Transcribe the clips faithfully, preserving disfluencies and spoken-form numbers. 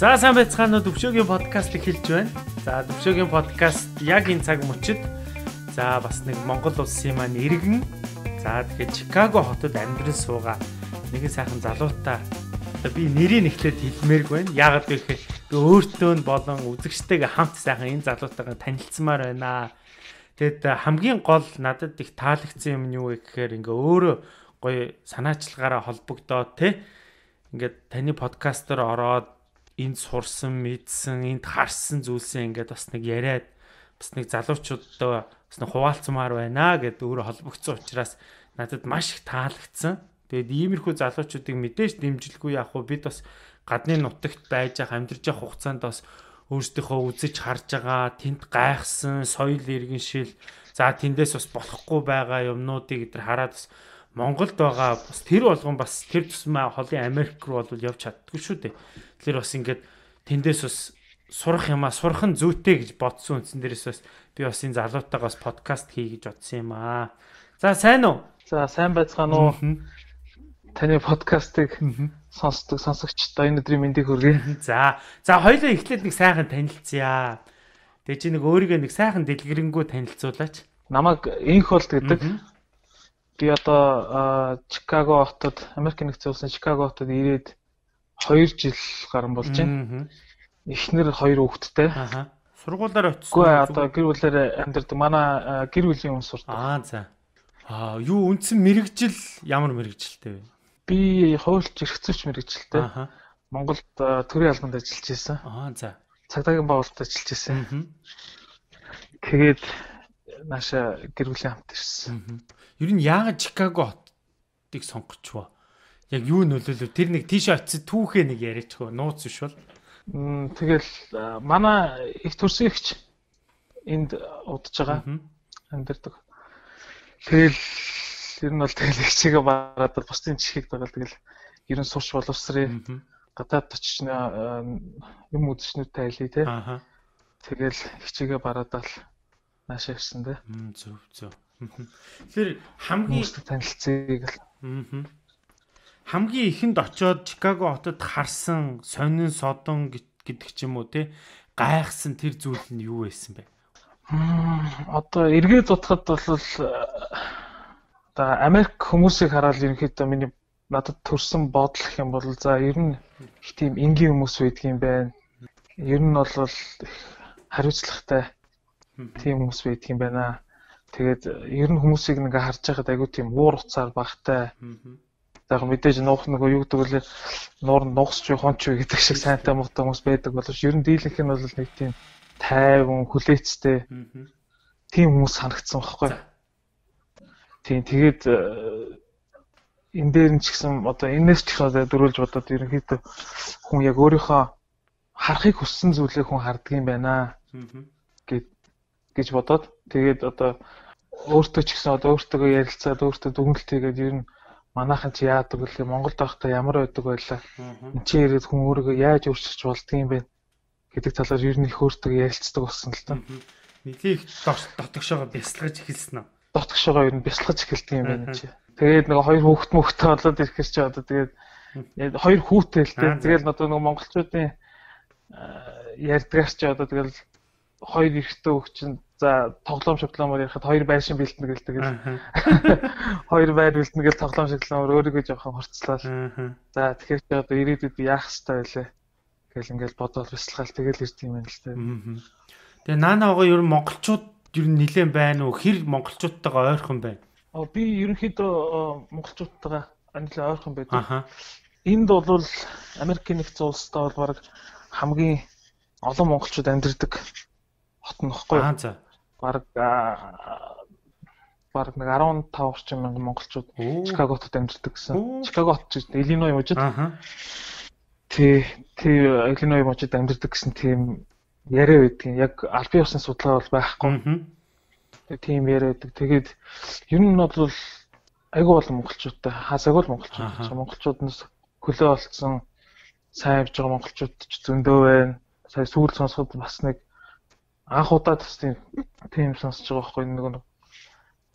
За сайн байцгаана уу, Төвшөөгийн подкаст эхэлж байна. За Төвшөөгийн подкаст яг энэ цаг мөчид за бас нэг Монгол улсын маань иргэн за тэгэхээр Чикаго хотод амьдран суугаа нэгэн сайхан залуутай би нэрийг эхлээд хэлмээргүй байна. Яагаад гэвэл би өөртөө нь болон үзэгчтэйгээ хамт сайхан энэ залуутайгаа танилцсамаар байна. Тэгэд хамгийн гол надад их таалагдсан юм нь юу вэ гэхээр ингээ өөрөө гоё санаачлагаараа холбогдоод те ингээд таны подкастер ороод энд сурсан, мэдсэн, энд харсан зүйлсээ ингээд бас нэг яриад бас нэг залуучуудтай бас нэг хуваалцмаар байна гэд өөрөө холбогдсон учраас надад маш их таалагдсан. Тэгээд иймэрхүү залуучуудыг мэдээж дэмжлэхгүй яах вэ? Бид бас гадны нутагт байж ах амьдарч явах хугацаанд бас өөрсдийнхөө үзэж харж байгаа, тэнд гайхсан соёл иргэншил, за тэндээс бас болохгүй байгаа юмнуудыг эдгээр хараад бас Монголд байгаа бас тэр болгон бас тэр тусмаа холын Америк руу бол явж чаддгүй шүү дээ. Тэгэхээр бас ингээд тэндээс бас сурах юмаа сурах нь зүйтэй гэж бодсон үндсэн дээрээс бас би бас энэ залуутайгаас подкаст хий гэж бодсон юм аа. За сайн уу? За сайн байцгаана уу? Таны подкастыг сонсдог сонсогчдоо энэ өдрийн мэндийг хүргэе. За за хоёулаа эхлээд нэг сайхан танилцъя. Тэгээ чи нэг өөрийгөө нэг сайхан дэлгэрэнгүй танилцуулаач. Намайг Инхолд гэдэг. Би одоо Чикаго хотод Америк нэгдсэн улсын Чикаго хотод ирээд хоёр жил гарсан болж байна. Эхнэр хоёр хүүхэдтэй. Аха. Сургуулаар очсон. Үгүй одоо гэр бүлээр амьдардаг. Манай гэр бүлийн хүн сурдаг. Аа за. Аа юу үндсэн мэрэгжил ямар мэрэгжилтэй вэ? Би хуульч эрхцүүлч мэрэгжилтэй. Аха. Монголд төрийн албанд ажиллаж байсан. Аа за. Цагдаагийн байгууллагад ажиллаж байсан. Тэгээд нааша гэр бүлийн хамт ирсэн. Ер нь яагаад Чикаго хотыг сонгочихвоо? Яг юу нөлөөлөв? Тэр нэг тийш очиод түүхээ нэг яриачих вэ? Нууц биш бол. Тэгэл манай их төрсөн ихч энд удаж байгаа. Амьдардаг. Тэгэл ер нь бол тэгэл ихчээгээ бараад бусдын чихийг дагаад тэгэл ер нь сурч боловсрын гадаад очиж юм үзчнүүдтэй айлээ те. Тэгэл ихчээгээ бараадаа л наашаа ирсэн те. Зөв зөв. Тэр хамгийн танилцыг л хамгийн ихэнд очоод Чикаго хотод харсан сонин содон гэдэг ч юм уу те гайхсан тэр зүйл нь юу байсан бэ? Одоо эргээд бодоход бол одоо Америк хүмүүсийг хараад ерөнхийдөө миний надад төрсэн бодол гэх юм бол за ер нь их тийм энгийн хүмүүс байдаг юм байна. Ер нь бол хариуцлагатай тийм хүмүүс байдаг юм байна. Тэгээд ер нь хүмүүсийг ингээ харж байхад айгүй тийм уур уцаар багтай. За мэдээж нуух нэг юу гэдэг вэ? Нуур нугсч хонч гэдэг шиг сайнтай муутай хүмүүс байдаг боловч ер нь дийлэнх нь бол нэг тийм тайван, хүлээцтэй тийм хүмүүс санагдсан байхгүй. Тийм тэгээд энэ дээр нь ч гэсэн одоо энэс ч ихсээ дөрүүлж бодоод ерөнхийдөө хүн яг өөрийнхөө харахыг хүссэн зүйлээ хүн харддаг юм байна гэж бодоод тэгээд одоо өөртөө ч гэсэн одоо өөртөө ярилцаад өөртөө дүгнэлт хийгээд ер нь манайхан чи яадаг вэ? Монголд байхдаа ямар байдаг байлаа? Энд чи ирээд хүн өөрийгөө яаж өөрчилж болдго юм бэ гэдэг талаар ер нь их өөртөө ярилцдаг болсон л та. Нэлийг дотгошоогоо бясалгаж эхэлсэн үү? Дотгошоогоо ер нь бясалгаж эхэлдэг юм байна чи. Тэгээд нэг хоёр хүүхэд мөхтэй болоод ирэхэр чи одоо тэгээд хоёр хүүтэй л дээ. Тэгээд одоо нэг монголчуудын ярьдгаар чи одоо тэгэл хоёр эрэгтэй хүүхэд чинь за тоглоом шоглоомоор ярихад хоёр байшин бэлтэнэ гэлдэг. Хоёр байр бэлтэнэ гэл тоглоом шоглоомоор өөрийгөө жоохон хорцлоо. За тэгэхээр чи одоо ирээдүйд яах хэрэгтэй вэ? Гэл ингээл бодоод бясалгаал тэгэл ирд юм байна л та. Тэгээ наанаагаа ер нь монголчууд ер нь нилээн байна уу? Хэр монголчуудтайгаа ойрхон байна? Аа би ерөнхийдөө монголчуудтайгаа нилээн ойрхон байдаг. Энд бол Америкийн нэгдсэн улстай бол баг хамгийн олон монголчууд амьдардаг хот нь баггүй. Аа за. Бараг бараг нэг арван тав орчим мянган монголчууд Чикаго хотод амьдардаг гэсэн. Чикаго хот чинь Иллиной мужид. Аа. Тэ тэ Иллиной мужид амьдардаг гэсэн тийм яриа байдгийн. Яг аль бие усны судалгаа бол байхгүй. Тийм яриа байдаг. Тэгээд ер нь бол айгүй бол монголчуудтай хасаагүй л монголчууд. Монголчууднаас хөлөө олцсон сайн явж байгаа монголчууд ч зөндөө байна. Сая сүүл сонсоход бас нэг анх удаа тийм тийм сонсож байгаа байхгүй нэг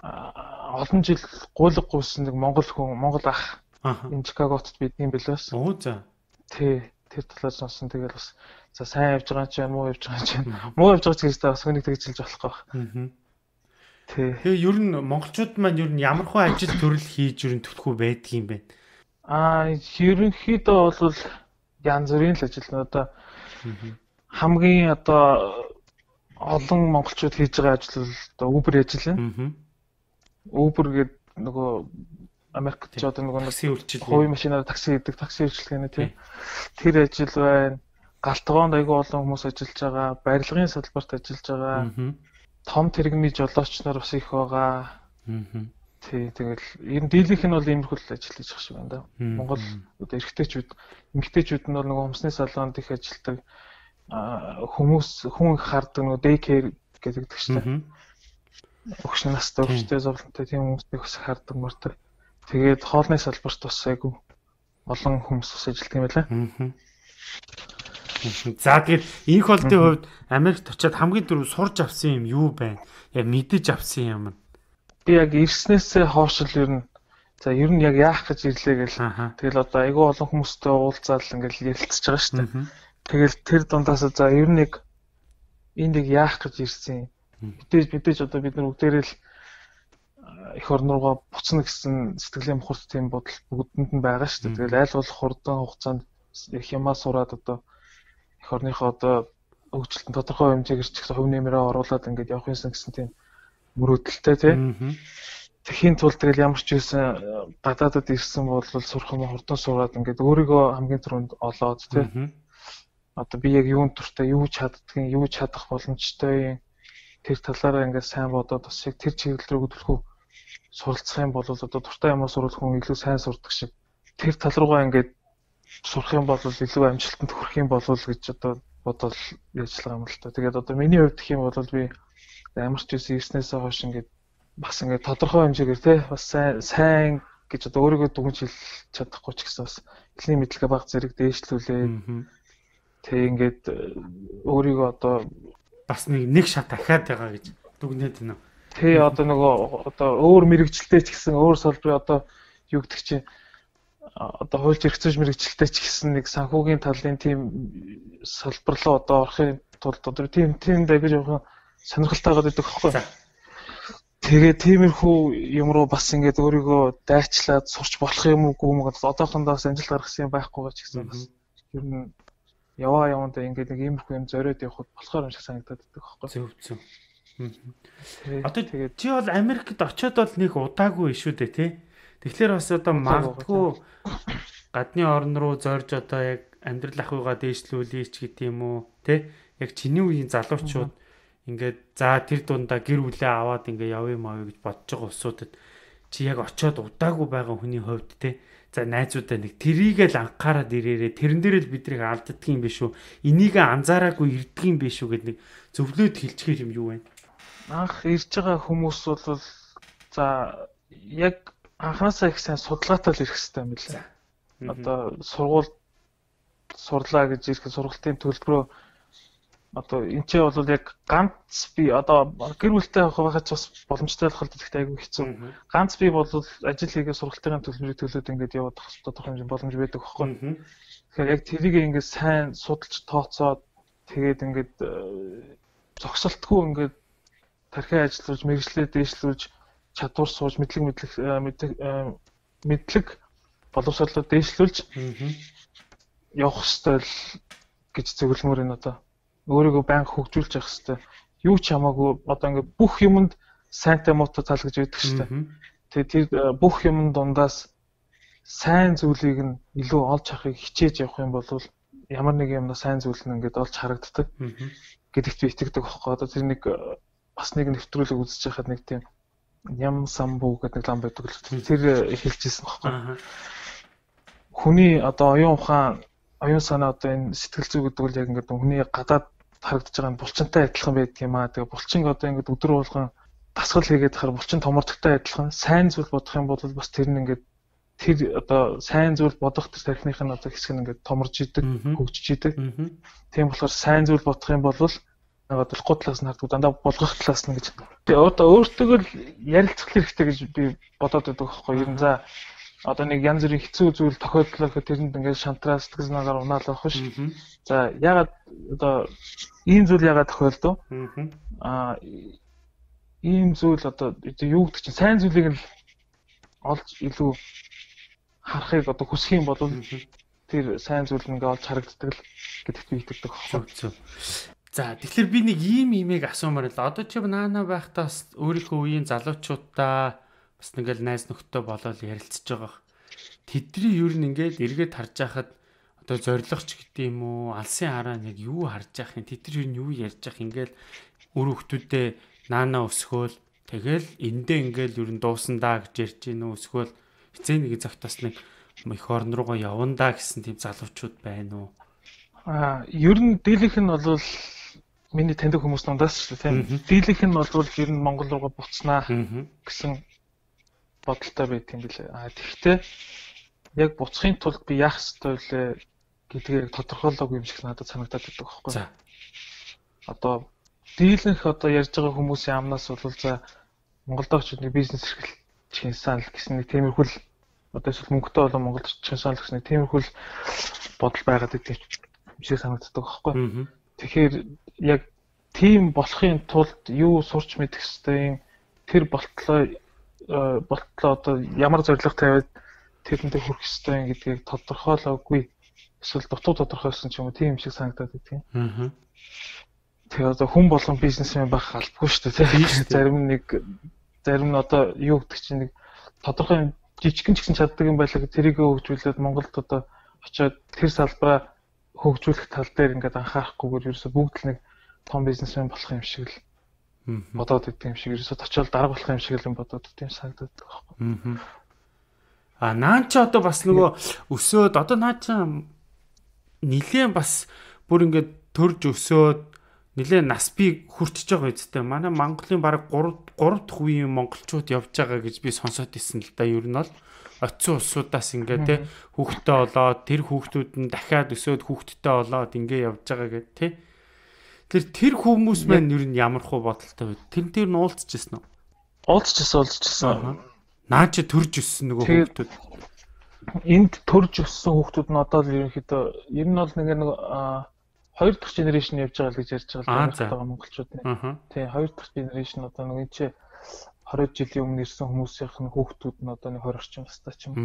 олон жил гуйлга гүйсэн нэг монгол хүн монгол ах энэ Чикаго хотод бид юм билээс. Оо за. Тий. тэр талаар сонсон. Тэгэл бас за сайн явж байгаа ч юм уу явж байгаа ч юм. Муу явж байгаа ч гэжтэй бас хүнийг тэгжилж болохгүй байна. Тий. Тэгээ ер нь монголчууд маань ер нь ямар хөө ажил төрөл хийж ер нь төлөхгүй байдаг юм бэ? Аа ерөнхийдөө бол янз бүрийн л ажил нь одоо хамгийн одоо олон монголчууд хийж байгаа ажил бол одоо Uber ажил нь. Uber гэдэг нөгөө Америкт ч одоо нөгөө такси үйлчил хувийн машинаар такси гэдэг такси үйлчилгээний тийм тэр ажил байна. Галтгоонд айгүй олон хүмүүс ажиллаж байгаа, барилгын салбарт ажиллаж байгаа. Том тэрэгний жолооч нар бас их байгаа. Тий, тэгэл ер нь дийлийнх нь бол иймэрхүү ажил хийж байгаа шиг байна да. Монгол одоо эрэгтэйчүүд, эмэгтэйчүүд нь бол нөгөө хүмсний салганд их ажилладаг. Хүмүүс хүн хардаг нөгөө day care гэдэг чинь. Өгш настай өгштэй зовлонтой тийм хүмүүсийг бас хардаг мөрдөг. Тэгээд хоолны салбарт бас айгүй олон хүмүүс бас ажилладаг юм байна. За тэгээд энэ холдын хувьд Америкт очиад хамгийн түрүү сурж авсан юм юу байна? Яг мэдэж авсан юм. Би яг ирснээсээ хойш л ер нь за ер нь яг яах гэж ирлээ гэл. Тэгэл одоо айгүй олон хүмүүстэй уулзаал ингээл ярилцж байгаа шүү дээ. Тэгэл тэр дундаас за ер нь яг энд яг яах гэж ирсэн юм. Мэдээж мэдээж одоо бид нар бүгдээрээ л их орн руугаа буцна гэсэн сэтгэлийн мухарт тийм бодол бүгдэнд нь байгаа шүү дээ. Тэгэл аль болох хурдан хугацаанд их юмаа сураад одоо их орныхоо одоо хөгжилтөнд тодорхой хэмжээгээр ч их хувь нэмрээ оруулаад ингээд явах юмсан гэсэн тийм мөрөөдөлтэй тийм. Тэхийн тулд тэгэл ямар ч байсан гадаадад ирсэн бол сурах юм хурдан сураад ингээд өөрийгөө хамгийн түрүүнд олоод тийм. Одоо би яг юунд туртай, юу чаддгийг, юу чадах боломжтой тэр талаараа ингээд сайн бодоод бас яг тэр чиглэл рүү төлөхөө суралцах юм бол одоо дуртай юмаа сурах хүн илүү сайн сурдаг шиг тэр тал руугаа ингээд сурах юм бол илүү амжилтанд хүрэх юм болов гэж одоо бодол ажиллагаа юм л та. Тэгээд одоо миний хувьд гэх юм бол би ямар ч үс ирснээсээ хойш ингээд бас ингээд тодорхой хэмжээгээр те бас сайн сайн гэж одоо өөрийгөө дүгнж хэлж чадахгүй ч гэсэн бас эхний мэдлэгээ баг зэрэг дээшлүүлээ. Тэг ингээд өөрийгөө одоо бас нэг нэг шат дахиад байгаа гэж дүгнээд байна. Тэ одоо нөгөө одоо өөр мэрэгчлээ ч гэсэн өөр салбарын одоо юу гэдэг чинь одоо хуульч эрхцээж мэрэгчлээ ч гэсэн нэг санхүүгийн талын тийм салбар руу одоо орохын тулд одоо тийм тийм дагаж явах сонирхолтой байгаа гэдэг хэвхэв. Тэгээ тиймэрхүү юм руу бас ингээд өөрийгөө дайчлаад сурч болох юм уу гүм одоохондоос амжилт гаргасан юм байхгүй ч гэсэн бас ер нь яваа явандаа ингээд нэг иймэрхүү юм зориод явахд болохоор юм шиг санагдаад байдаг байхгүй. Зөв зөв. Одоо тэгээд чи бол Америкт очиод бол нэг удаагүй шүү дээ тий. Тэгэхээр бас одоо магадгүй гадны орн руу зорж одоо яг амьдрал ахуйгаа дээшлүүлээч гэдэг юм уу тий. Яг чиний үеийн залуучууд ингээд за тэр дундаа гэр бүлээ аваад ингээд явъя маа гэж бодож байгаа улсуудад чи яг очиод удаагүй байгаа хүний хувьд тий. За найзуудаа нэг тэрийгэл анхаарад ирээрээ тэрэн дээр л биднийг алддаг юм биш үү? Энийг анзаараагүй ирдэг юм биш үү гэдэг нэг зөвлөд хэлчихэр юм юу вэ? Анх ирж байгаа хүмүүс бол за яг анханасаа их сайн судалгаатай л ирэх хэрэгтэй юм билээ. Одоо сургууль сурлаа гэж ирэх сургалтын төлбөрөө одоо энэ ч бол яг ганц би одоо гэр бүлтэй байхад ч бас боломжтой болох л гэхдээ айгүй хэцүү. Ганц би бол ажил хийгээ сургалтын төлбөрийг төлөөд ингээд яваад тах тодорхой хэмжээний боломж байдаг байхгүй. Тэгэхээр яг тэрийг ингээд сайн судалж тооцоод тэгээд ингээд зогсолтгүй ингээд тархи ажиллуулж, мэрэгчлээ дээшлүүлж, чадвар сууж, мэдлэг мэдлэг мэдлэг боловсролоо дээшлүүлж явах ёстой л гэж зөвлөмөр энэ одоо өөрийгөө байнга хөгжүүлж явах хэрэгтэй. Юу ч хамаагүй одоо ингээд бүх юмд сайнтай муутай тал гэж байдаг шүү дээ. Тэгээд тэр бүх юм дундаас сайн зүйлийг нь илүү олж харахыг хичээж явах юм бол ямар нэг юмна сайн зүйл нь ингээд олж харагддаг. Гэдэгт би итгэдэг байхгүй. Одоо тэр нэг бас нэг нэвтрүүлэг үзэж байхад нэг тийм ям самбуу гэдэг лам байдаг л тэр хэлжсэн байхгүй. Хүний одоо оюун ухаан, оюун санаа одоо энэ сэтгэл зүй гэдэг үл яг ингээд хүний гадаад харагдаж байгаа нь булчинтай адилхан байдаг юм аа. Тэгээ булчин одоо ингээд өдөр болгон дасгал хийгээд хахаар булчин томордогтой адилхан сайн зүйл бодох юм бол бас тэр нь ингээд тэр одоо сайн зүйл бодох тэр тархиных нь одоо хэсэг нь ингээд томорж идэг, хөгжиж идэг. Тийм болохоор сайн зүйл бодох юм бол нэг бодлохгүй талаас нь харддаг дандаа болгох талаас нь гэж. Тэгээ одоо өөртөө л ярилцах хэрэгтэй гэж би бодоод байдаг байхгүй юу. Ер нь за одоо нэг янз бүрийн хэцүү зүйл тохиолдлоо гэхэд тэрэнд ингээд шантраа сэтгэл санаагаар унаал байх шүү. За ягаад одоо ийм зүйл ягаад тохиолдов? Аа ийм зүйл одоо юу гэдэг чинь сайн зүйлийг л олж илүү харахыг одоо хүсэх юм бол тэр сайн зүйл нь ингээд олж харагддаг л гэдэгт би итгэдэг байхгүй. За тэгэхээр би нэг ийм имийг асуумаар л одоо чи наана байхдаа бас өөрийнхөө үеийн залуучуудаа бас нэгэл найз нөхдөд болоод ярилцж байгаа. Тэдний ер нь ингээд эргээд харж байхад одоо зоригч гэдэг юм уу алсын хараа яг юу харж явах юм тэдний ер нь юу ярьж явах ингээд өр хөвгтүүдээ наана өсгөөл тэгэл эндээ ингээд ер нь дуусандаа гэж ярьж гинөө өсгөөл эцээ нэг цагтаас нэг их орн руугаа явандаа гэсэн тийм залуучууд байна уу? Аа ер нь дийлэнх нь бол миний таньдаг хүмүүс дундаас шүү дээ тийм. Дийлэнх нь бол ер нь Монгол руугаа буцнаа гэсэн бодолтой байт юм билээ. Аа тэгвэл яг буцахын тулд би яах ёстой вэ гэдгийг тодорхойлоогүй юм шиг надад санагдаад байдаг байхгүй. За. Одоо дийлэнх одоо ярьж байгаа хүмүүсийн амнаас бол за Монголд очиж нэг бизнес эрхлэх санал гэсэн нэг тиймэрхүү одоо эсвэл мөнгөтэй болон Монголд очих санал гэсэн нэг тиймэрхүү бодол байгаад байдаг юм шиг санагддаг байхгүй. Тэгэхээр яг тийм болохын тулд юу сурч мэдэх ёстой юм тэр болтлоо болтлоо одоо ямар зорилго тавиад тэрэндээ хүрэх ёстой юм гэдгийг тодорхойлоогүй эсвэл дутуу тодорхойлсон ч юм уу тийм юм шиг санагдаад байдаг юм. Тэгээ одоо хүн болгон бизнесмен байх албагүй шүү дээ тийм. Зарим нэг зарим нь одоо юу гэдэг чинь нэг тодорхой жижигэн ч гэсэн чаддаг юм байлаа тэрийг хөгжүүлээд Монголд одоо очиод тэр салбараа хөгжүүлэх тал дээр ингээд анхаарахгүйгээр ерөөсө бүгд л нэг том бизнесмен болох юм шиг л бодоод идэв юм шиг ерөөсө очиод дарга болох юм шиг л бодоод идэв юм санагдаад байгаа байхгүй. А наан ч одоо бас нөгөө өсөөд одоо наа чи нилээн бас бүр ингээд төрж өсөөд нилээн нас би хүрчихэж байгаа үсттэй. Манай Монголын баг гурав дахь үеийн монголчууд явж байгаа гэж би сонсоод ирсэн л да. Ер нь бол оцсон улсуудаас ингээд те хүүхдтэй болоод тэр хүүхдүүд нь дахиад өсөөд хүүхдтэй болоод ингээд явж байгаа гэдэг те. Тэр тэр хүмүүс маань ер нь ямар хуу бодолтой вэ? Тэр тэр нь уулзчихсан уу? Уулзчихсан уулзчихсан. Наа чи төрж өссөн нөгөө хүүхдүүд. Энд төрж өссөн хүүхдүүд нь одоо л ерөнхийдөө ер нь бол нэг нэг хоёр дахь генерашн явж байгаа л гэж ярьж байгаа л монголчууд. Тий, хоёр дахь генерашн одоо нэг чи хорвол жилийн өмнө ирсэн хүмүүсийн хүүхдүүд нь одоо нэг двадцать орчим настай ч юм.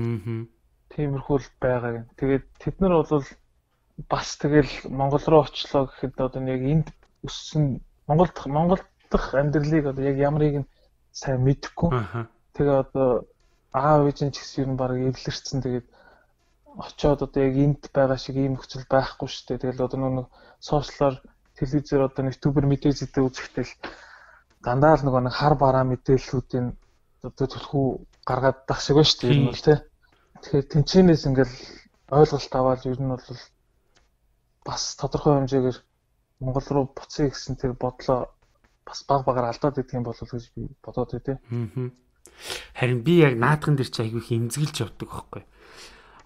Тиймэрхүү л байгаа юм. Тэгээд тэд нар бол бас тэгэл Монгол руу очлоо гэхэд одоо яг энд өссөн Монголд Монгол дахь амьдралыг одоо яг ямарыг нь сайн мэдэхгүй. Тэгээ одоо аав ээж нь ч гэсэн ер нь баг эвлэрсэн. Тэгээд очиод одоо яг энд байгаа шиг ийм нөхцөл байхгүй шүү дээ. Тэгэл одоо нэг сошиалар телевизээр одоо нэг ютубер мэдээлэлтэй үзэхдээ л дандаа л нэг хар бараа мэдээллүүдийн одоо төлхөө гаргаад дах шиг байна шүү дээ. Ер нь бол тий. Тэгэхээр тэнцэнээс ингээл ойлголт аваад ер нь бол бас тодорхой хэмжээгээр Монгол руу буцъя гэсэн тэр бодлоо бас баг багаар алдаад идэх юм болов гэж би бодоод байдیں۔ Харин би яг наадхан дээр чи айгүй их эмзэглэж явдаг байхгүй.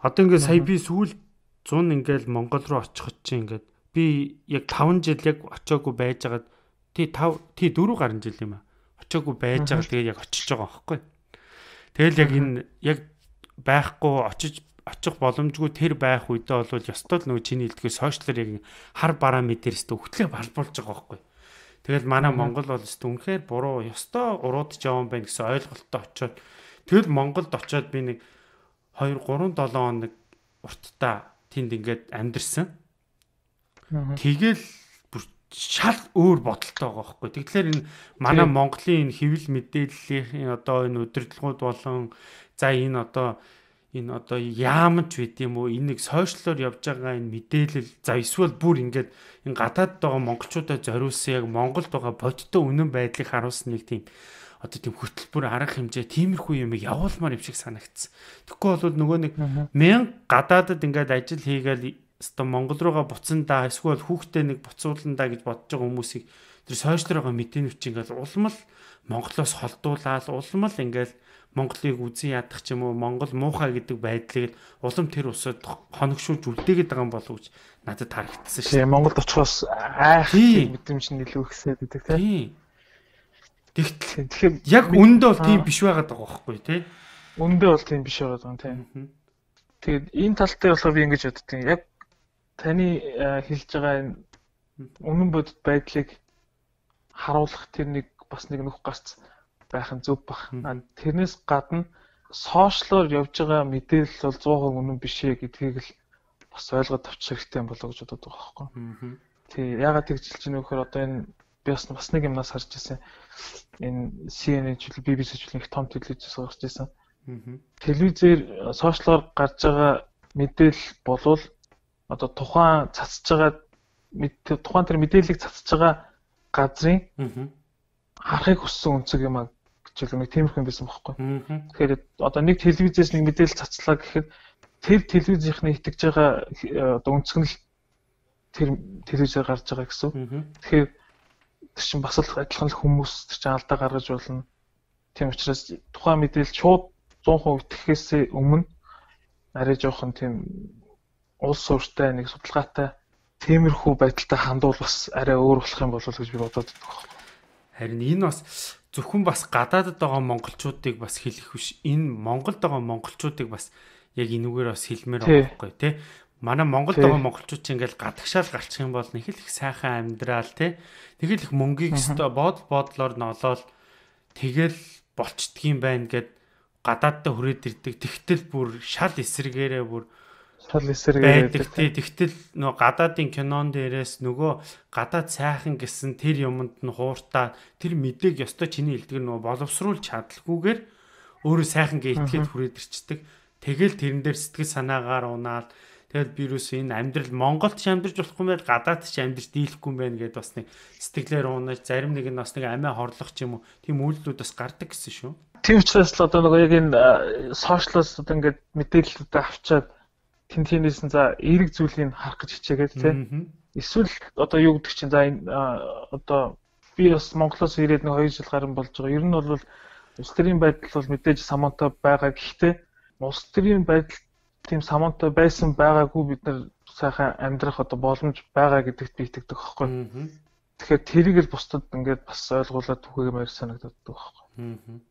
Одоо ингээд сая би сүүл зун ингээд Монгол руу очиход чи ингээд би яг таван жил яг очиагүй байжгаад тий тав тий дөрөв гаруй жил юм аа. Очиагүй байж байгаа тэгээд яг очиж байгаа байхгүй. Тэгэл яг энэ яг байхгүй очиж очих боломжгүй тэр байх үедээ бол ёстой л нөгөө чиний хэлдгээр сошиалэр яг хар бараа мэдэрс төвхтлээ балбуулж байгаа байхгүй. Тэгэл манай Монгол бол өстө үнэхээр буруу ёстой уруудж явсан байх гэсэн ойлголттой очиод тэгэл Монголд очиод би нэг хоёр гурван долоон хоног уртдаа тэнд ингээд амьдэрсэн. Тэгэл шал өөр бодолтой байгаа байхгүй. Тэгэхээр энэ манай Монголын энэ хэвлэл мэдээллийн одоо энэ удирдлагууд болон за энэ одоо энэ одоо яамж байд юм уу энэ нэг сошиалор явж байгаа энэ мэдээлэл за эсвэл бүр ингээд энэ гадаад байгаа монголчуудаа зориулсан яг Монголд байгаа бодиттой үнэн байдлыг харуулсан нэг тийм одоо тийм хөтөлбөр арга хэмжээ тиймэрхүү юм явуулмаар юм шиг санагдсан. Тэгэхгүй бол нөгөө нэг мянга гадаадад ингээд ажил хийгээл өстой Монгол руугаа буцандаа эсвэл хүүхдээ нэг буцууландаа гэж бодож байгаа хүмүүсийг тэр сошиалороо мэдээнүүч ингээд улам л Монголоос холдуулаад улам л ингээд Монголыг үзэн ядах ч юм уу Монгол муухай гэдэг байдлыг улам тэр усад хоногшуулж үлдээгээд байгаа юм болов уу гэж надад харагдсан шүү. Тийм Монголд очихоос айх мэдрэмж нь илүү ихсээд байдаг тийм. Тэгэхээр яг үндэ бол тийм биш байгаад байгаа байхгүй тий. Үндэ бол тийм биш байгаа юм тийм. Тэгээд энэ тал дээр болохоор би ингэж боддгийн. Яг таны хэлж байгаа энэ үнэн бодит байдлыг харуулах тэр нэг бас нэг нөх гарц байх нь зөв бах. Тэрнээс гадна сошиалор явж байгаа мэдээлэл бол сто процент үнэн биш ээ гэдгийг л бас ойлгоод авчих хэрэгтэй юм болоо гэж бодод байгаа байхгүй. Тий, ягаад тэгжилж байна вэ гэхээр одоо энэ би бас бас нэг юмнаас харж ирсэн. Энэ си эн эн ч би би си ч их том телевизээс гарч ирсэн. Телевизээр сошиалор гарч байгаа мэдээлэл болвол одоо тухайн цацж байгаа тухайн тэр мэдээллийг цацж байгаа газрын харахыг хүссэн үнцэг юм а гэж нэг тиймэрхүү юм байсан байхгүй. Тэгэхээр одоо нэг телевизээс нэг мэдээлэл цацлаа гэхэд тэр телевизийнхний итгэж байгаа одоо үнцэг нь тэр телевизээр гарч байгаа гэсэн. Тэгэхээр тэр чинь бас л адилхан л хүмүүс тэр чинь алдаа гаргаж болно. Тийм учраас тухайн мэдээлэл шууд сто процент итгэхээс өмнө арай жоохон тийм улс суурьтай нэг судалгаатай тиймэрхүү байдалтай хандвал бас арай өөр болох юм болов уу гэж би бодоод байна. Харин энэ бас зөвхөн бас гадаадд байгаа монголчуудыг бас хэлэх биш. Энэ Монголд байгаа монголчуудыг бас яг энүүгээр бас хэлмээр байгаа байхгүй тий. Манай Монголд байгаа монголчууд чинь ингээл гадагшаал гарчих юм бол нэг л их сайхан амьдрал тий. Тэгэл их мөнгийг өстө бод бодлоор нолоод тэгэл болчдгийм байна гэд гадааддаа хүрээд ирдэг. Тэгтэл бүр шал эсрэгээрээ бүр шал эсрэгээрээ тэгтэл нөгөө гадаадын кинон дээрээс нөгөө гадаад сайхан гэсэн тэр юмд нь хууртаа тэр мэдээг ёстой чиний хэлдэг нөгөө боловсруулж чадлаггүйгээр өөрөө сайхан гээ итгээд хүрээд ирчдэг. Тэгэл тэрэн дээр сэтгэл санаагаар унаал тэгэл вирус энэ амьдрал Монголд ч амьдарч болохгүй байл гадаад ч амьдарч дийлэхгүй юм байна гэдээ бас нэг сэтгэлээр унаж зарим нэг нь бас нэг амиа хорлох ч юм уу тийм үйлдэлүүд бас гардаг гэсэн шүү. Тийм учраас л одоо нөгөө яг энэ сошиалоос одоо ингээд мэдээлэлүүдээ авчаад тэн тэнээс нь за эерэг зүйлийг харах гэж хичээгээд тийм эсвэл одоо юу гэдэг чинь за энэ одоо би бас Монголоос ирээд нэг хоёр жил гарсан болж байгаа. Ер нь бол улс төрийн байдал бол мэдээж самонтой байгаа. Гэхдээ улс төрийн байдал тийм самонтой байсан байгаагүй бид нар сайхан амьдрах одоо боломж байгаа гэдэгт би итгэдэг байхгүй. Тэгэхээр тэрийг л бусдад ингээд бас ойлгуулад түгээмээр санагдаад байгаа байхгүй.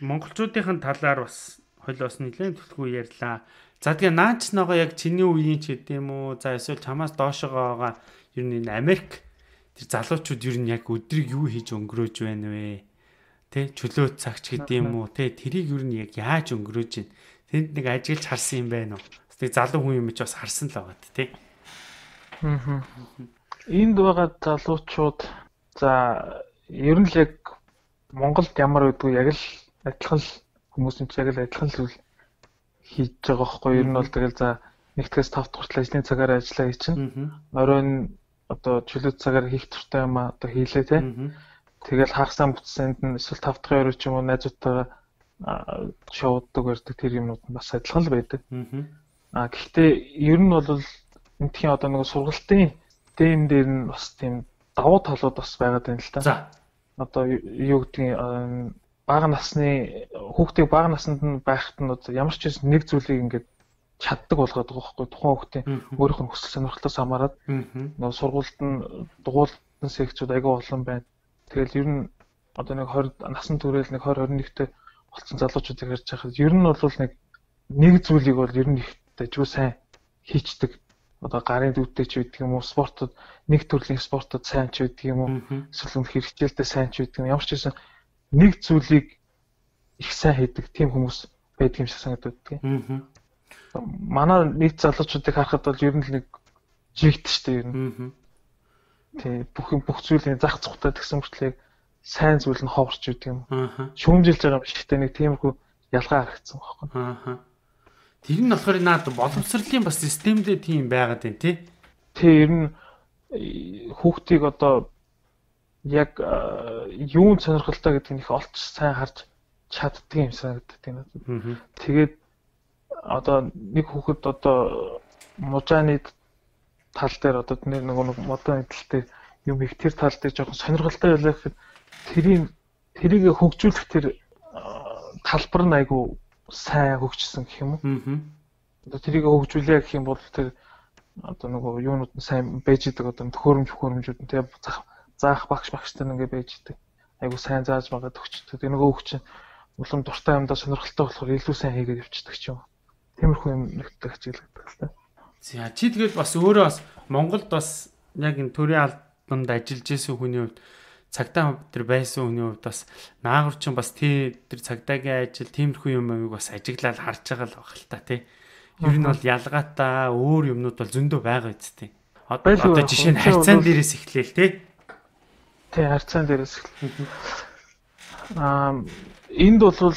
Монголчуудын талаар бас хойлоос нэлээд төлхөө ярьлаа. За тэгээ наач ногоо яг чиний үеийн ч гэдэм юм уу? За эсвэл чамаас доошогоо байгаа ер нь энэ Америк тэр залуучууд ер нь яг өдрийг юу хийж өнгөрөөж байна вэ? Тэ чөлөө цагч гэдэм юм уу? Тэ тэрийг ер нь яг яаж өнгөрөөж байна? Тэнд нэг ажиглаж харсан юм байна уу? Тэг залуу хүн юм чи бас харсан л байгаа тэ. Аа. Энд байгаа залуучууд за ер нь л яг Монголд ямар байдгүй яг л адилхан л хүмүүсийн ч яг л адилхан л хийж байгаа байхгүй ер нь бол тэгэл за нэгдгээс тавд хүртэл ажлын цагаар ажиллаа хий чинь оройн одоо чөлөөт цагаар хийх туртай юм а одоо хийлээ те тэгэл хагасаа бүтсэнд нь эсвэл тав дахь орой ч юм уу найзуудтайгаа шоудаг барьдаг тэр юмнууд нь бас адилхан л байдаг а гэхдээ ер нь бол энтхийн одоо нэг сургалтын дэм дээр нь бас тийм давуу талууд бас байгаад байна л та за одоо юу гэдгийг бага насны хүүхдийг бага наснд нь байхад нь ямар ч зүйл нэг зүйлийг ингээд чаддаг болгоод байгаа байхгүй тухайн хүүхдийн өөрийнх нь хүсэл сонирхлоос хамаарат нөгөө сургуульд нь дугуйлтын секцүүд аягүй олон байна. Тэгэл ер нь одоо нэг двадцать насан туршид нэг двадцать двадцать одны болсон залуучуудыг харж байхад ер нь бол нэг нэг зүйлийг бол ер нь их дажгүй сайн хийчдэг. Одоо гарын дүүтэй ч байдаг юм уу спортод нэг төрлийн спортод сайн ч байдаг юм уу эсвэл үнэхээр хичээлдээ сайн ч байдаг юм ямар ч байсан нэг зүйлийг их сайн хийдэг тийм хүмүүс байдаг юм шиг санагдаад байна. Аа. Манай нийт залуучуудыг харахад бол ер нь л нэг жигт штэ ер нь. Тий бүх бүх зүйлийн зах цухтай гэсэн мөртлөө сайн зүйл нь ховорч идэг юм. Аа. Шүүмжилж байгаа юм шигтэй нэг тиймэрхүү ялгаа харагдсан байхгүй. Аа. Тэр нь болохоор наад боловсролын бас системдээ тийм байгаад байна тий. Тий ер нь хүүхдийг одоо яг юунд сонирхолтой гэдгийг их олж сайн харж чаддаг юм санагддаг тийм үү. Тэгээд одоо нэг хүүхэд одоо мужааны тал дээр одоо нэг нэг модон эдэлтэй юм их тэр тал дээр жоохон сонирхолтой байлаа гэхэд тэрийг тэрийг хөгжүүлэх тэр талбар нь айгу сайн хөгжсөн гэх юм уу. Одоо тэрийг хөгжүүлээ гэх юм бол тэр одоо нөгөө юунууд нь сайн байж идэг одоо төхөөрөмж хөхөөрөмжүүд нь тийм заах багш багштай ингээ байж идэг. Айгу сайн зааж магаад өгчдөг. Тэр нөгөө хөгч улам дуртай юмдаа сонирхолтой болохоор илүү сайн хийгээд явчихдаг ч юм. Тиймэрхүү юм нэгтгэж ажигладаг л та. За чи тэгэл бас өөрөө бас Монголд бас яг энэ төрийн албанд ажиллаж исэн хүний хувьд цагтаа тэр байсан хүний хувьд бас наагур чинь бас тэр цагдаагийн ажил тиймэрхүү юм амиг бас ажиглаад харж байгаа л баг л та тий. Ер нь бол ялгаатай өөр юмнууд бол зөндөө байгаа үсттэй. Одоо жишээ нь харьцаан дээрээс эхлээл тий. Тий харьцаан дээрээс эхлэв. Аа энд бол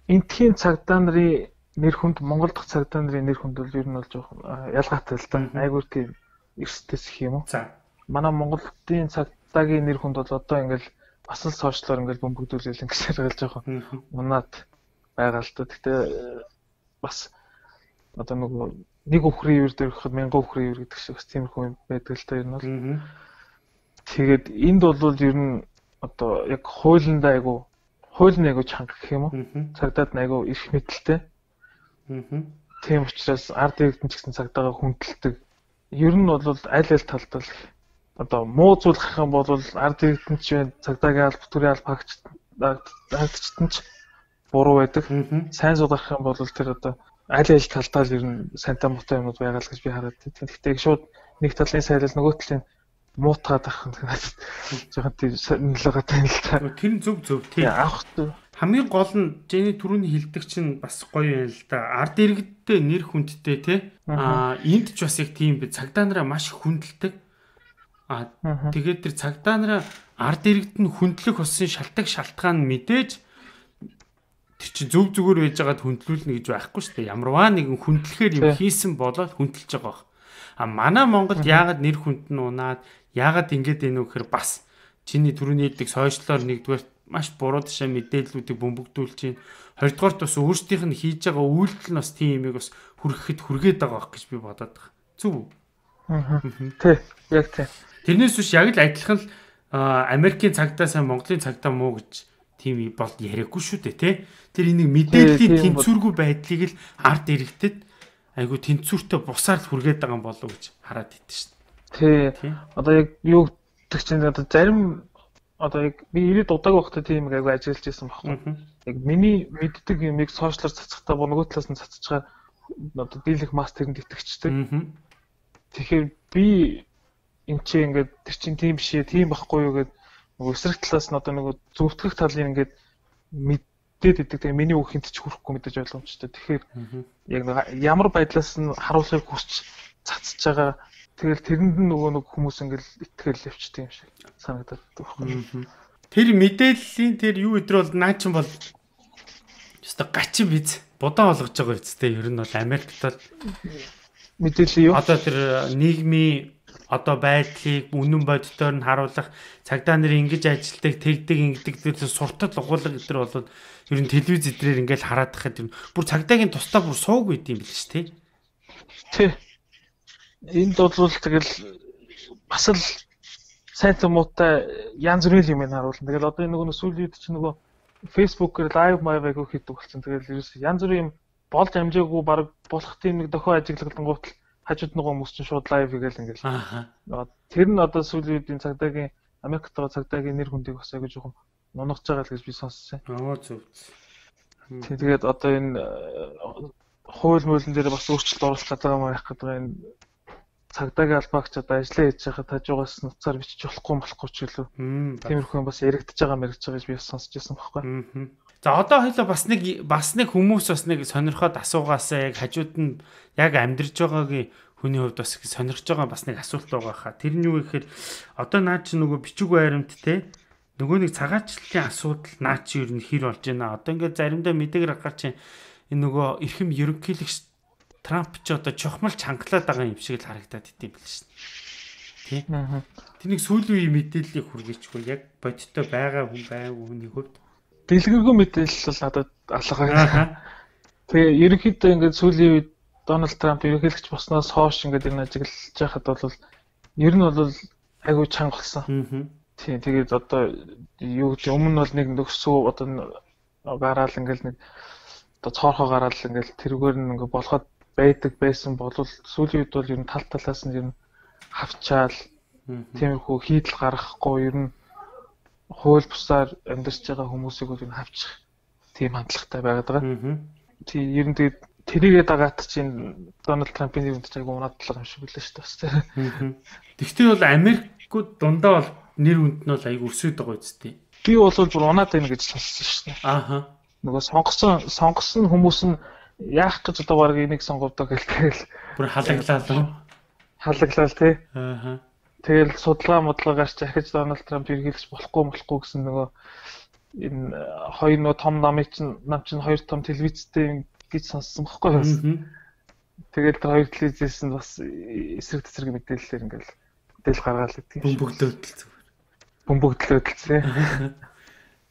энтхийн цагдаа нарын нэр хүнд Монгол дахь цагдаа нарын нэр хүнд бол ер нь бол жоохон ялгаатай л да. Айгуур тийм эрсдэс их юм уу? За. Манай Монголын цагдаагийн нэр хүнд бол одоо ингээл бас л сошиалор ингээл бөмбөгдүүлэл ингэсээр гал жоохон унаад байгаа л да. Гэхдээ бас одоо нөгөө нэг өхрийн үер дээр гэхэд мянган өхрийн үер гэдэг шиг бас тиймэрхүү юм байдаг л да ер нь бол. Тэгээд энд бол ер нь одоо яг хуулиндаа айгу хууль нь айгу чанга гэх юм уу? Цагдаад нь айгу их мэдлэлтэй. Тийм учраас ард иргэдэн ч гэсэн цагдаагаа хүндэлдэг. Ер нь бол аль аль талд л одоо муу зүйл гарах юм бол ард иргэдэн ч цагдаагийн алба төрийн алба хаагчдад ч буруу байдаг. Сайн зүйл гарах юм бол тэр одоо аль аль талдаа л ер нь сантай муутай юмуд байгаа л гэж би хараад байна. Гэхдээ шууд нэг талын сайлал нөгөө талын муутгаад авах нь жоохон тийм нөлөөтэй л та. Тэр нь зөв зөв тийм. Авах хамгийн гол нь Жэний түрүүний хэлдэг чинь бас гоё юм л да. Ард иргэдтэй нэр хүндтэй те. Аа энд ч бас яг тийм би цагдаа нараа маш хүндэлдэг. Аа тэгээд тэр цагдаа нараа ард иргэд нь хүндлэх болсон шалтгаан шалтгаан мэдээж тэр чинь зөв зүгээр байж байгаад хүндлүүлнэ гэж байхгүй шүү дээ. Ямарваа нэгэн хүндлэхээр юм хийсэн болоод хүндэлж байгаа. А манай Монголд яагаад нэр хүнд нь унаад яагаад ингэж энэ вэ гэхээр бас чиний түрүүний хэлдэг сошиалоор нэгдүгээр маш буруу ташаа мэдээллүүдийг бөмбөгдүүлж байна. Хоёрдугаарт бас өөрсдийнх нь хийж байгаа үйлдэл нь бас тийм юмыг бас хүргэхэд хүргээд байгаа байх гэж би бодоод байгаа. Зөв үү? Аа. Тий, яг тий. Тэрнээс биш яг л адилхан л Америкийн цагдаа сайн Монголын цагдаа муу гэж тийм бол яриаггүй шүү дээ, тий. Тэр энийг мэдээллийн тэнцвэргүй байдлыг л ард иргэдэд айгу тэнцвэртэй бусаар л хүргээд байгаа юм болов уу гэж хараад идэв шүү дээ. Тий. Одоо яг юу гэдэг чинь одоо зарим одоо яг би ирээд удааг багтаа тийм айгу ажиллаж байсан байхгүй. Яг миний мэддэг юмыг сошиалар цацхтаа нөгөө талаас нь цацчихаар одоо дийлэх мастерэнд итгэжтэй. Тэгэхээр би энэ чи ингээд тэр чин тийм биш ээ, тийм байхгүй юу гэд нөгөө эсрэг талаас нь одоо нөгөө зөвтгөх талын ингээд мэдээд идэг. Тэгээ миний үхинд ч хүрэхгүй мэдээж ойлгомжтой. Тэгэхээр яг ямар байдлаас нь харуулахыг хүсч цацж байгаа. Тэгэл тэрэнд нь нөгөө нэг хүмүүс ингээл итгэл явчдаг юм шиг санагдаад байна. Тэр мэдээллийн тэр юу өдр бол наа чин бол ёстой гачин биз будаа болгож байгаа үсттэй. Ер нь бол Америкт бол мэдээлэл юу? Одоо тэр нийгмийн одоо байдлыг үнэн бодитоор нь харуулах цагдаа нарын ингэж ажилтдаг, тэгдэг, ингэдэг тэр суртал угуулга гэдэр бол ер нь телевиз эдрээр ингээл хараад тахад юм. Бүр цагдаагийн тусдаа бүр сууг байд юм биш тий. Тий. Энд бол тэгэл бас л сайн томоотой янз бүрийн юм харуулна. Тэгэл одоо энэ нөгөө сүүлийн үед чинь нөгөө Facebook-ээр лайв майвыг хийдэг болсон. Тэгэл ерөөс янз бүрийн юм болж амжаагүй баг болох тийм нэг дохио ажиглалгангуут хажууд нөгөө хүмүүс чинь шууд лайв хийгээл ингээл. Аа. Тэр нь одоо сүүлийн үеийн цагдаагийн Америкт байгаа цагдаагийн нэр хүндийг бас аягүй жоохон нунагч байгаа л гэж би сонссон. Аа зөв. Тэгээд одоо энэ хууль муулин дээр бас өөрчлөлт оруулах гэдэг юм байх гэдэг энэ цагдаагийн албаагч одоо ажиллаа хийж байхад хажуугаас нуцаар бичиж болохгүй болохгүй ч гэлөө. Тиймэрхүү юм бас яригдчихэж байгаа мэрэгж байгаа гэж би сонсч байсан байхгүй. За одоо хоёлаа бас нэг бас нэг хүмүүс бас нэг сонирхоод асуугаасаа яг хажууд нь яг амьдарч байгаагийн хүний хувьд бас сонирхож байгаа бас нэг асуулт байгаа хаа. Тэр нь юу гэхээр одоо наа чи нөгөө бичиг байрамт те нөгөө нэг цагаачлалын асуудал наа чи ер нь хэр болж байна. Одоо ингээд заримдаа мэдээгээр гарч энэ нөгөө эрхэм ерөнхийлөгч Трамп ч одоо чухмал чангалаад байгаа юм шиг л харагдаад идэв бил шин. Тий. Тэнийг сүүлийн үеийн мэдээллийг хүргээчихгүй яг бодиттой байгаа хүн байгаагүй хүний хувьд дэлгэрэнгүй мэдээлэл бол надад алгаа. Тэгээ ерөнхийдөө ингээд сүүлийн үед Дональд Трамп ерөнхийлөгч болсноос хойш ингээд энэ ажиглаж байхад бол ер нь бол айгүй чанга болсон. Тийм тэгээд одоо юу гэж өмнө бол нэг нөхсөө одоо гараал ингээд нэг одоо цоорхоо гараал ингээд тэрүүгээр нь ингээд болгоод байдаг байсан болвол сүүлийн үед бол ер нь тал талаас нь ер нь хавчаал тиймэрхүү хийдэл гаргахгүй ер нь хууль бусаар амьдарч байгаа хүмүүсийг бол энэ хавчих тийм хандлагатай байгаад байгаа. Аа. Тийм ер нь тэгээд тэрийгээ дагаад чинь Дональд Трампын нэрнд ч айгүй унаадлага юм шиг билээ шүү дээ бас тийм. Тэгвэл бол Америкууд дундаа бол нэр хүнд нь бол айгүй өсөд байгаа үстэй. Би бол бүр унаад байна гэж сонссон шүү дээ. Ааха. Нөгөө сонгосон сонгосон хүмүүс нь яах гэж одоо баг энийг сонговдоо гэлтэйл бүр халаглаа л. Халаглаа тий. Ааха. Тэгэл судалгаа модлогоос ч ахиж Дональд Трамп эргэлж болохгүй болохгүй гэсэн нөгөө энэ хоёр нөгөө том намын чинь нам чинь хоёр том телевизтэй гэж сонссон байхгүй юу? Тэгэл тэр хоёр телевизээс нь бас эсрэг тесрэг мэдээлэлээр ингээл мэдээлэл гаргаал гэдэг юм. Бөмбөгдөөдөл зүгээр. Бөмбөгдлөөдөл зэ.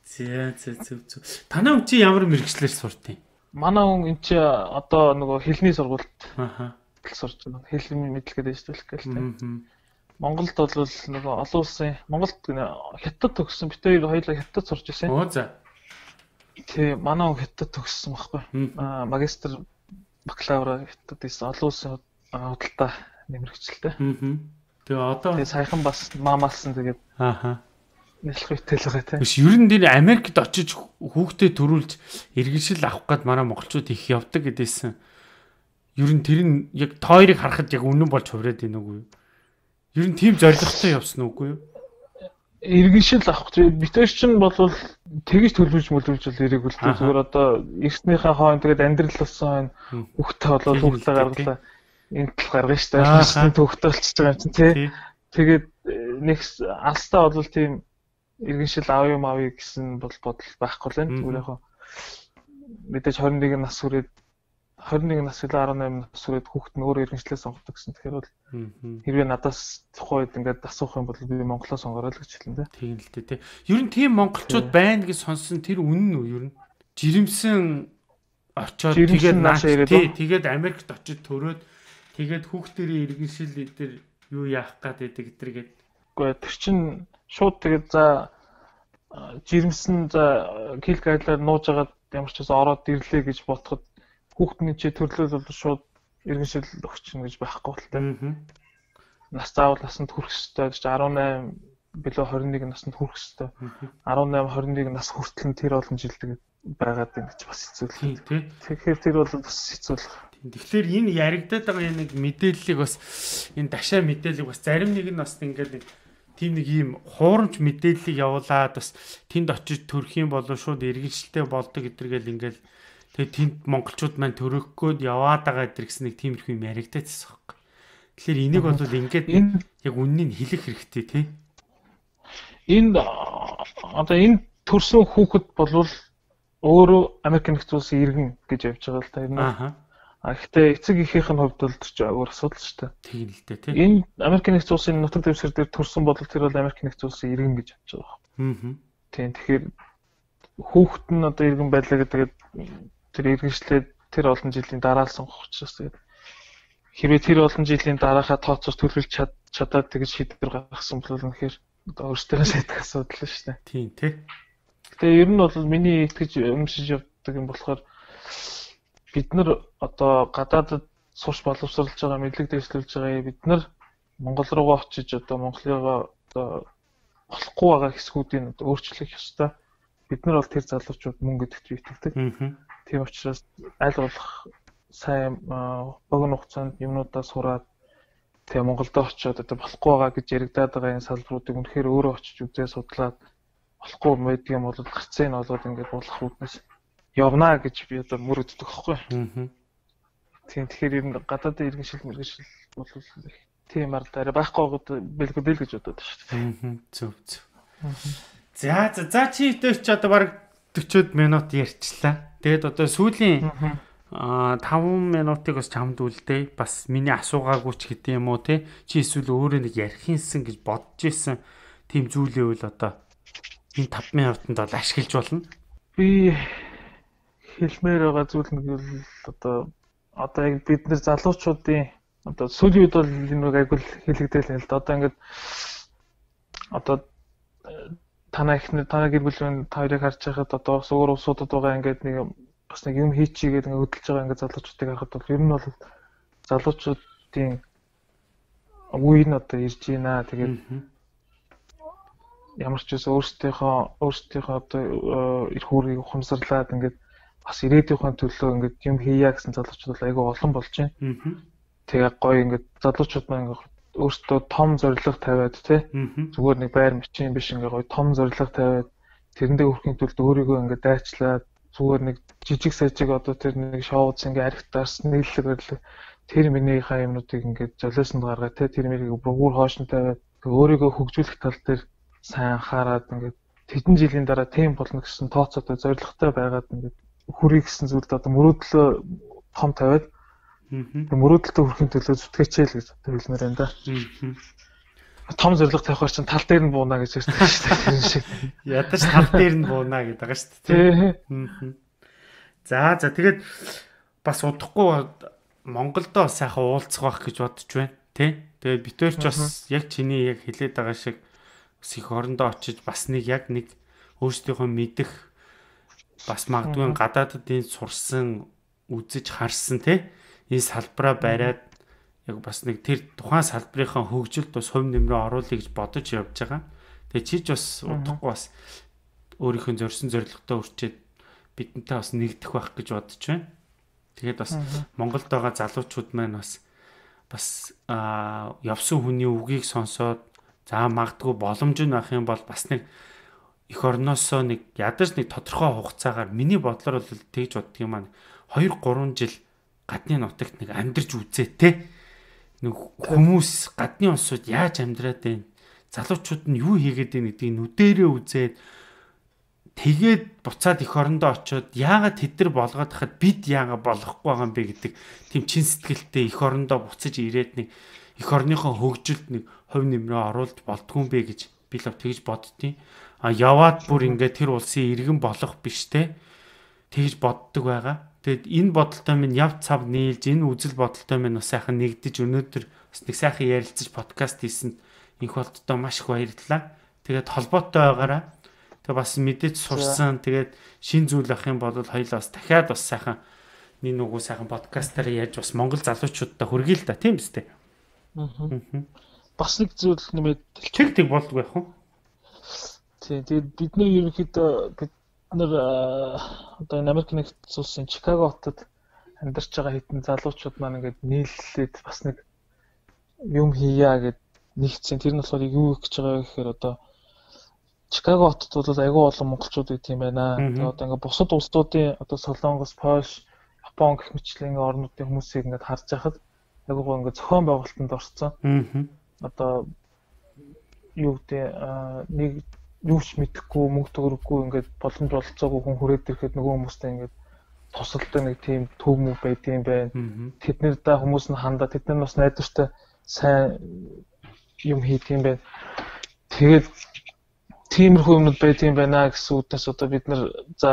Зэ зэ зэ зэ. Танай хүн чи ямар мэргэжлэр сурт юм? Манай хүн эн чи одоо нөгөө хэлний сургуульд ааха сурч байна. Хэлний мэдлэгээ дэвшүүлэх гэлтэй. Монголд бол нөгөө олон улсын Монголд хятад төгссөн бит хоёр хоёулаа хятад сурч байсан. Оо за. Тий, манай хүн хятад төгссөн байхгүй. Аа магистр бакалавра хятад ийсэн олон улсын худалдаа нэмэрхчлээ. Аа. Тэгээ одоо тэгээ саяхан бас маамаалсан тэгээд ааха нэлэх үтэл байгаа тийм. Биш ер нь дээр Америкт очиж хүүхдээ төрүүлж иргэншил авах гээд манай монголчууд их явдаг гэдээсэн. Ер нь тэр нь яг тойрыг харахад яг үнэн болж хувраад байна уу? Ер нь тийм зоригтой явсан уугүй юу? Иргэншил авах битэр чинь бол тэгж төлөвлөж мөлөвлж бол ирэх үл зүгээр одоо эртнийхээ хойно тэгээд амьдрал болсон хойно хүүхдээ болоод хүүхдээ гаргалаа энэ тал гаргана шүү дээ. Төвхтэй болчихж байгаа юм чинь тий. Тэгээд нэг алстаа бол тийм иргэншил аав юм авъя гэсэн бол бодол байхгүй л байна. Зүгээр яг мэдээж двадцать и один нас хүрээд двадцать и один нас или деснь нас хүрээд хүүхд нь өөрөө иргэншлээ сонгодог гэсэн. Тэгэхээр бол хэрвээ надаас тухайд ингээд асуух юм бол би Монголоо сонгороо л гэж хэлнэ. Тийм л дээ тий. Ер нь тийм монголчууд байна гэж сонсон тэр үнэн үү ер нь? Жирэмсэн очоод тэгээд наач тий тэгээд Америкт очиж төрөөд тэгээд хүүхдэрээ иргэншил дээр юу яах гээд байдаг гэдэргээд. Гэхдээ тэр чин шууд тэгээд за жирэмсэн за кил гайлаар нууж агаад ямар ч байсан ороод ирлээ гэж бодоход хүүхдний чи төрлөл бол шууд иргэншил өгчихнө гэж байхгүй бол тээ. Нас заавал насанд хүрэх ёстой гэж деснь билүү двадцать и один насанд хүрэх ёстой. деснь двадцать и один нас хүртэл нь тэр олон жил тэгээд байгаад байна гэж бас хэцүү л тий. Тэгэхээр тэр бол бас хэцүү л. Тэгэхээр энэ яригадаад байгаа нэг мэдээллийг бас энэ дашаа мэдээллийг бас зарим нэг нь бас ингээд тийм нэг ийм хуурамч мэдээллийг явуулаад бас тэнд очиж төрөх юм бол шууд иргэншилтэй болдог гэдэргээл ингээд тэгээд тэнд монголчууд маань төрөхгүй яваад байгаа гэдэр гэсэн нэг тиймэрхүү юм яригадаад байсан байхгүй. Тэгэхээр энийг бол ингээд яг үннийг хэлэх хэрэгтэй тий. Энэ одоо энэ төрсөн хүүхэд болвол өөрөө Америк нэгдсэн улсын иргэн гэж явж байгаа л та энэ. Аа. А гэхдээ эцэг эхийнх нь хувьд бол ч өөр асуудал шүү дээ. Тийм л дээ тий. Энэ Америк нэгдсэн улсын нутаг дэвсгэр дээр төрсөн бол тэр бол Америк нэгдсэн улсын иргэн гэж явж байгаа. Аа. Тийм тэгэхээр хүүхэд нь одоо иргэн байлаа гэдэг тэр иргэншлээ тэр олон жилийн дараа л сонгох учраас тэгээд хэрвээ тэр олон жилийн дараахаа тооцоос төлөвлөж чадаад тэгж шийдвэр гаргасан бол үнэхээр одоо өөрсдөө сайдах асуудал шүү дээ. Тийм тий. Тэгээ ер нь бол миний итгэж өмсөж явдаг юм болохоор бид нар одоо гадаадд сурч боловсруулж байгаа мэдлэг дэвшлүүлж байгаа бид нар Монгол руугаа очиж одоо Монголыгоо одоо болохгүй байгаа хэсгүүдийг одоо өөрчлөх ёстой. Бид нар бол тэр залуучууд мөнгө гэдэгт итгэдэг. Тийм учраас аль болох сайн богино хугацаанд юмнуудаа сураад тэгээ Монголд очиод одоо болохгүй байгаа гэж яригадаад байгаа энэ салбаруудыг үнэхээр өөрөө очиж үзээ судлаад болохгүй байдаг юм бол гарцаа нь болоод ингээд болох үүднээс явнаа гэж би одоо мөрөгддөг байхгүй. Аа. Тийм тэгэхээр ер нь гадаадын иргэншил мэргэншил бол тийм ард арай байхгүй байгаа бэлгүй бэл гэж бодоод байна шүү дээ. Аа. Зөв зөв. За за за чи дэвч одоо баг forty минут ярьчлаа. Тэгээд одоо сүүлийн аа five минутыг бас чамд үлдээ. Бас миний асуугаагүй ч гэдэг юм уу те. Чи эсвэл өөрөө нэг ярих юмсан гэж бодож исэн тийм зүйлээ үл одоо энэ five минутанд бол ашиглаж болно. Би хэлмээр байгаа зүйл нэг бол одоо одоо яг бид нар залуучуудын одоо сүүлийн үед бол энэ нэг айгуул хэлэгдээл юм л да. Одоо ингээд одоо танаа ихнэр танаа гэр бүлийн хоёрыг харж байхад одоо бас өөр усуудад байгаа ингээд нэг бас нэг юм хийчихгээд ингээд хөдөлж байгаа ингээд залуучуудыг харахад бол ер нь бол залуучуудын үе нь одоо ирж байна. Тэгээд ямар ч үс өөрсдийнхөө өөрсдийнхөө одоо эрх үүргийг ухамсарлаад ингээд бас ирээдүйнхээ төлөө ингээд юм хийя гэсэн залуучууд бол айгүй олон болж байна. Тэгээ гоё ингээд залуучууд маань ингээд өөрсдөө том зорилго тавиад тий зүгээр нэг байр мчин биш ингээд гоё том зорилго тавиад тэрэндээ хүрэхин тулд өөрийгөө ингээд дайчлаад зүгээр нэг жижиг сажиг одоо тэр нэг шоуц ингээд архитарс нийллэг барилга тэр минийхээ юмнуудыг ингээд золиосонд гаргаад тий тэр мэрийг бүр хоошин тавиад өөрийгөө хөгжүүлэх тал дээр сайн анхаарад ингээд хэдэн жилийн дараа тийм болно гэсэн тооцоотой зорилготой байгаад ингээд хүрэх гэсэн зүйлд одоо мөрөөдлөө том тавиад мөрөөдөлтөд хүрэхин төлөө зүтгээчээл гэж хэлмээр байна да. Том зорилго тавихаар чинь тал дээр нь буунаа гэж ярьдаг шүү дээ. Тэр шиг. Ядаж тал дээр нь буунаа гэдэг байгаа шүү дээ. За за тэгээд бас удахгүй Монголдо сайхан уулзах байх гэж бодож байна тий. Тэгээд битүүрч бас яг чиний яг хэлээд байгаа шиг бас их орондоо очиж бас нэг яг нэг өөрсдийнхөө мэдэх бас магадгүй гадаадд энэ сурсан үзэж харсан тий энэ салбараа бариад яг бас нэг тэр тухайн салбарынхаа хөгжилд бас хувь нэмрээ оруулъя гэж бодож явж байгаа. Тэгээ чиж бас удахгүй бас өөрийнхөө зорьсон зорилготой үрчээд бидэнтэй бас нэгдэх байх гэж бодож байна. Тэгээд бас Монголд байгаа залуучууд маань бас бас явсан хүний үгийг сонсоод за магадгүй боломж нь авах юм бол бас нэг эх орноосоо нэг ядаж нэг тодорхой хугацаагаар миний бодлоор бол тэгж боддөг юм аа хоёр гурван жил гадны нутагт нэг амьдарч үзээ те нэг хүмүүс гадны улсууд яаж амьдраад байна залуучууд нь юу хийгээд байна гэдгийг нүдэрээ үзээд тэгээд буцаад эх орондоо очиод яагаад тэд нар болгоод хахад бид яагаад болохгүй байгаа юм бэ гэдэг тийм чин сэтгэлтэй эх орондоо буцаж ирээд нэг эх орныхоо хөгжилд нэг хувь нэмрээ оруулж болдгүй юм бэ гэж би л тэгж боддtiin. А яваад бүр ингээд тэр улсын иргэн болох биш те тэгж боддог байгаа. Тэгэд энэ бодолтой минь яв цав нийлж энэ үзэл бодолтой минь бас сайхан нэгдэж өнөөдөр бас нэг сайхан ярилцаж подкаст хийсэнд инх болттой маш их баярлалаа. Тэгээд холбоотой байгаараа тэгээд бас мэдээж сурсан тэгээд шин зүйл авах юм бол хоёулаа бас дахиад бас сайхан нэг нүгүү сайхан подкастаар яаж бас Монгол залуучуудтай хүргий л да тийм биз дээ. Аа. Бас нэг зүйл нэмээд тэг тэг болдгоо яах вэ? Тийм тэгээд бидний ерөнхийдөө бид нар одоо Америк нэгдсэн улсын Чикаго хотод амьдарч байгаа хэдэн залуучууд маань ингээд нийллээд бас нэг юм хийя гэд нэгцэн тэр нь болохоор юу гэж байгаа гэхээр одоо Чикаго хотод бол айгүй олон монголчууд байт юм байна. Тэгээд одоо ингээд бусад улсуудын одоо Солонгос, Польш, Япон гэх мэтчлэн орнуудын хүмүүсийг ингээд харж байхад айгүй гоо ингээд зохион байгуулалтанд орсон. Одоо юу гэдэг нэг юу ч мэдэхгүй мөнгө төгрөггүй ингээд боломж олцоогүй хүн хүрээд ирэхэд нөгөө хүмүүстэй ингээд тусалдаг нэг тийм төв мөв байдığım байна. Тэднэрдээ хүмүүс нь хандаа тэд нар бас найдвартай сайн юм хийдэг юм байна. Тэгээд тиймэрхүү юмнууд байдığım байна гэсэн үгнээс одоо бид нар за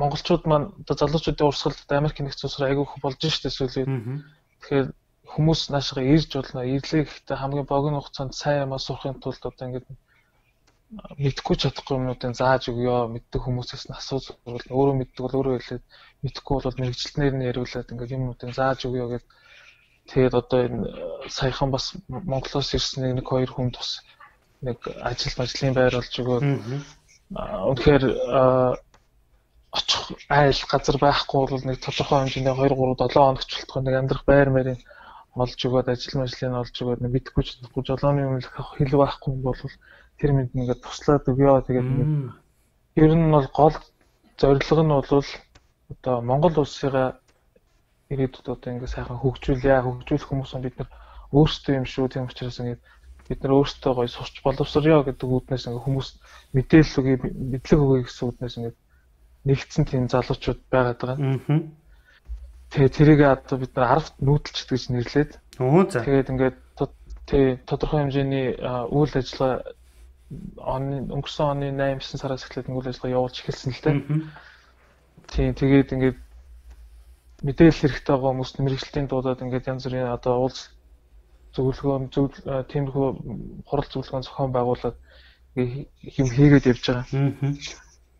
монголчууд маань одоо залуучуудын урсгалд Америк нэгдсэн улсаар айгүй их болж штэ сүүлийн. Тэгэхээр хүмүүс наашгаа ирж болно. Ирлээ гэхдээ хамгийн богино хугацаанд сайн юм сурахын тулд одоо ингээд мэдхгүй чадахгүй юмнуудын зааж өгөө. Мэддэг хүмүүсээс нь асууж зөвлөл. Өөрөө мэддэг бол өөрөө хэлээд мэдхгүй бол мэрэгчлэнээр нь яриулаад ингээд юмнуудын зааж өгөө гэд. Тэгээд одоо энэ саяхан бас Монголоос ирсэн нэг хоёр хүн тус нэг ажил ажлын байр болж өгөө. Үнэхээр очих айл газар байхгүй бол нэг тодорхой хэмжээний хоёр гурав долоо хоногч болтгоо нэг амьдрах байр мэрийн олж өгөөд ажил мэргэжлийн олж өгөөд нэг мэдхгүй чадахгүй жолооны юм хэл байхгүй бол тэр мэд ингээд туслаад өгөө. Тэгээд ер нь бол гол зорилго нь бол одоо Монгол улсыгаа ирээдүйд одоо ингээд сайхан хөгжүүлээ. Хөгжүүлэх хүмүүс нь бид нар өөрсдөө юм шүү. Тийм учраас ингээд бид нар өөрсдөө гоё сурч боловсрё гэдэг үүднээс ингээд хүмүүс мэдээлэл өгье, мэдлэг өгье гэсэн үүднээс ингээд нэгдсэн тийм залуучууд байгаад байгаа. Тэгээ тэрийг одоо бид нар арвт нүүдэлч гэж нэрлээд. Тэгээд ингээд тий тодорхой хэмжээний үйл ажиллагаа оны өнгөрсөн оны восемь девять сараас эхлээд үйл ажиллагаа явуулж эхэлсэн л дээ. Тий тэгээд ингээд мэдээлэл хэрэгтэй байгаа хүмүүст мэрэгчлэлтийн дуудаад ингээд янз бүрийн одоо уулз зөвлөгөө зөв тиймэрхүү хурал зөвлөгөө зохион байгуулад юм хийгээд явж байгаа.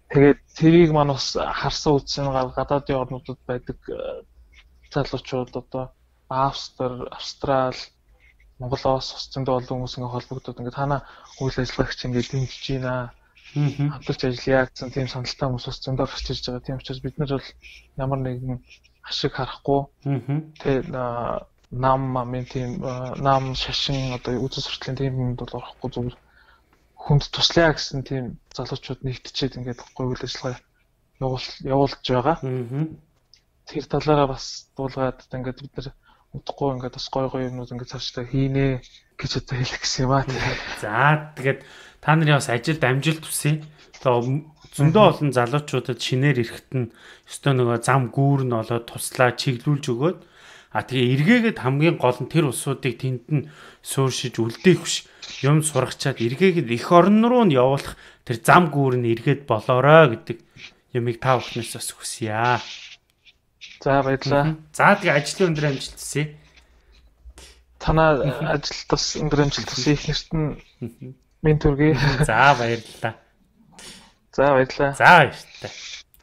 Тэгээд тэрийг маань бас харсан үзсэн гадаадын орнуудад байдаг залуучууд одоо Австри, Австрал, Монголоос ус зөндөө олон хүмүүс ингээ холбогдоод ингээ танаа үйл ажиллагаач ингээ дэмжиж байна. Хамтарч ажиллая гэсэн тийм саналтай хүмүүс ус зөндөө гарч ирж байгаа. Тийм учраас бид нар бол ямар нэгэн ашиг харахгүй. Тэгээ нам амын тийм нам шашин одоо үзэл сурталын тийм юмд бол орохгүй зүгээр хүнд туслая гэсэн тийм залуучууд нэгтчихэд ингээд үйл ажиллагаа явуулж байгаа. Тэр талаараа бас дуулгаад ингээд бид нар удахгүй ингээд бас гой гой юмнууд ингээд цаашдаа хийнэ гэж одоо хэлэх гэсэн юм аа. За тэгээд та нарын бас ажилд амжилт хүсье. Тэгээ зөндөө олон залуучуудад шинээр ирэхэд нь өстой нөгөө зам гүүр нь олоод туслаа чиглүүлж өгөөд а тэгээ эргээгээд хамгийн гол нь тэр усуудыг тэнд нь сууршиж үлдээх биш юм сургачаад эргээгээд эх орн руу нь явуулах тэр зам гүүр нь эргээд болоорой гэдэг юмыг та бүхнээс бас хүсье. За баярлалаа. За тэгээ ажлын өндөр амжилт хүсье. Танаа ажилд бас өндөр амжилт хүсье. Их нэрт нь минь төргий. За баярлалаа. За баярлалаа. За баярлалаа.